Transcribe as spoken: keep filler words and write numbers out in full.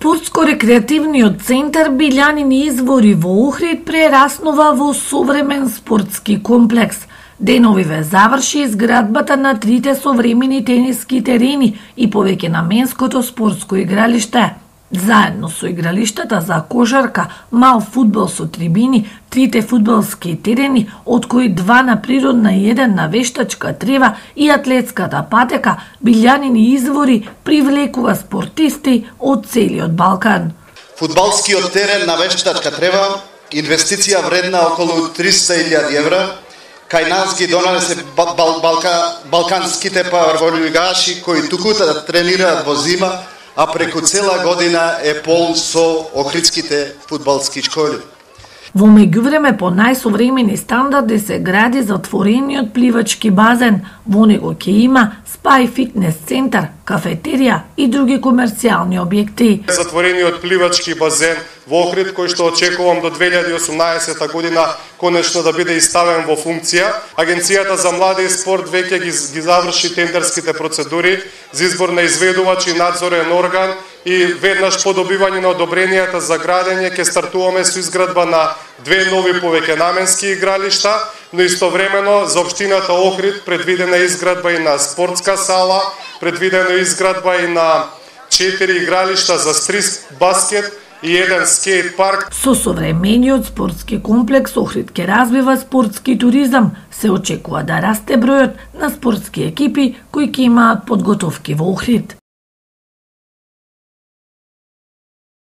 Спортско-рекреативниот центар Билјанини извори во Охрид прераснува во современ спортски комплекс. Деновиве заврши изградбата на трите современи тениски терени и повеќе наменското спортско игралиште. Заедно со игралиштата за кошарка, мал фудбал со трибини, трите фудбалски терени, од кои два на природна и еден на вештачка трева и атлетската патека, Билјанини извори привлекува спортисти од целиот Балкан. Фудбалскиот терен на вештачка трева, инвестиција вредна околу триста илјади евра, кај нас ги донесе бал, бал, балка, балканските паварволигаши кои тукута да тренираат во зима, а преку цела година е пол со охридските фудбалски школи. Во меѓувреме по најсовремени стандарди се гради затворениот пливачки базен. Во него ќе има спа и фитнес центар, кафетерија и други комерцијални објекти. Затворениот пливачки базен во Охрид, кој што очекувам до две илјади и осумнаесета година конечно да биде иставен во функција. Агенцијата за млади и спорт веќе ги, ги заврши тендерските процедури за избор на изведувач и надзорен орган и веднаш по добивање на одобренијата за градење ќе стартуваме со изградба на две нови повеќенаменски игралишта, но истовремено за општината Охрид предвидена изградба и на спортска сала, предвидена изградба и на четири игралишта за стрит баскет и еден скейт парк. Со современиот спортски комплекс Охрид ќе развива спортски туризам. Се очекува да расте бројот на спортски екипи кои ќе имаат подготовки во Охрид.